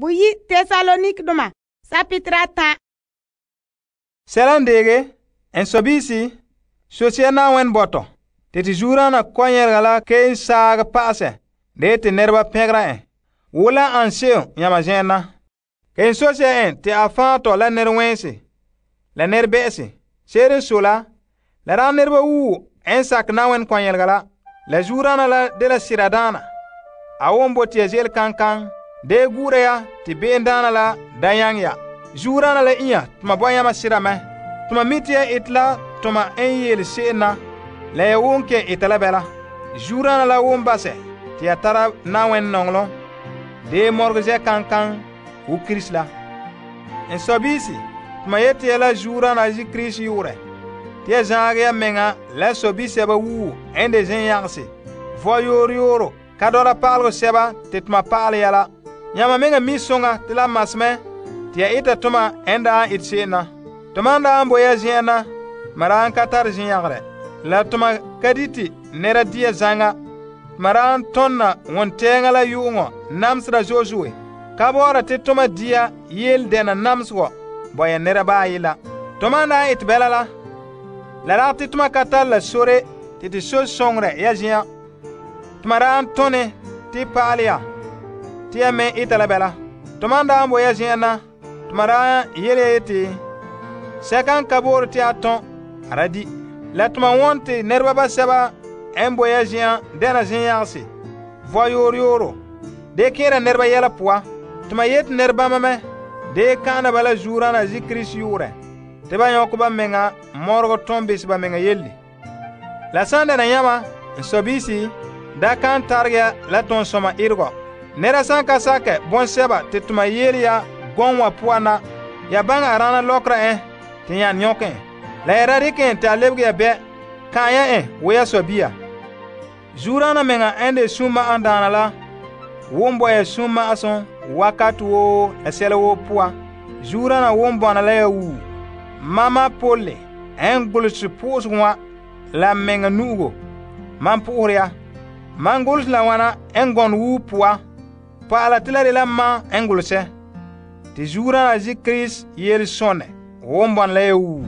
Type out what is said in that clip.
Boyi Tesalonikdoma sapitra 10. Sɛla n deege, en sɔbiisi, sosia Na'ayenɛ bɔtɔ, te zuodaana kɔnyɛrega la kelom saagɛ pa'asɛ de te nɛreba pɛngera en, wo la an se'em yãma zen'en na. Kelom sosia en te a faa tɔ la nɛrewɛɛnse la nɛrebɛ'ɛse. Se'ere n sɔe la, la dagɛ nɛreba wuo n sakɛ Na'ayenɛ kɔnyɛrega la zuodaana la dela seradaana. A won bote ya ze'ele kankan, de gu'ura ya te be'emdaana la da nyaŋɛ ya. Zuodaana la inya toma bɔ yãma sera mɛ. Toma mi te ya ete la toma n yele se'em na, la ya won kelom eta la bɛla. Zuodaana la won basɛ te ya tara Na'ayenɛ nɔŋɔlom, de mɔregɛ zɛ kankan wo Krista la. En sɔbiisi, toma yete ya la zuodaana zi Krista yu'urɛ, te ya zaagɛ ya mɛŋa la sɔbisɛba wuo n de zen'yagese, vɔ yooro yooro, ka dɔla pa'alegɔ sɛba te toma pa'alɛ ya la. Yãma meŋa mi soŋa te la mas mɛ te ya eta toma n daa ete se'em na. Toma n daa bo ya zen'an na, toma daa ka tare zen'yagerɛ, la toma ka dite nɛra dia zaŋa. Toma daa tɔnna wontɛɛŋa la yu'uŋɔ namesera zo'e zo'e. Ka bɔ'ɔra te toma dia yele dɛna namesegɔ bo ya nɛra baayi la. Toma n daa ete bɛla la dagɛ te toma ka tare la sore te so soŋorɛ ya zen'an. Toma daa tɔne te pa'alɛ ya te ya me eta la bɛla. Toma n daa bo ya zen'an na, toma daa yele ya yeti, sɛka n ka boore te a tɔn, a da di. La toma won te nɛreba basɛba n bo ya zen'an dɛna zen'yagese, vɔ yooro yooro, de kẽera nɛreba yɛla poan. Toma yete nɛrebama mɛ de ka'ana ba la zuodaana zi Krista yu'urɛ, te ba nyɔkɛ ba meŋa mɔregɔ tɔn bese ba meŋa yelle. La san dɛna yãma, n sɔbiisi, da kan tarege ya la tɔnsɔma eregɔ. Nɛra san ka sakɛ bɔnsɛba te toma yele ya gɔŋ wa poan na, ya baŋɛ a rana lɔkera en te yan nyɔkɛ en. La ya da dikɛ en te a lebege ya bɛ, ka'an ya en wo ya sɔbia. Zuodaana meŋa n de sunma'ahom daana la won bo ya sunma'asum wakati woo la sɛla woo poan. Zuodaana won bɔna la ya wuo. Mama Pole n golose po'osegɔ wa la meŋa nu'ugo, man po'ohere ya. Man golose la wana n gɔnɛ wuo poan, pa'ala te la de la man n golosɛ. Te zuodaana zi Krista yele sɔnɛ won bɔna la ya wuo.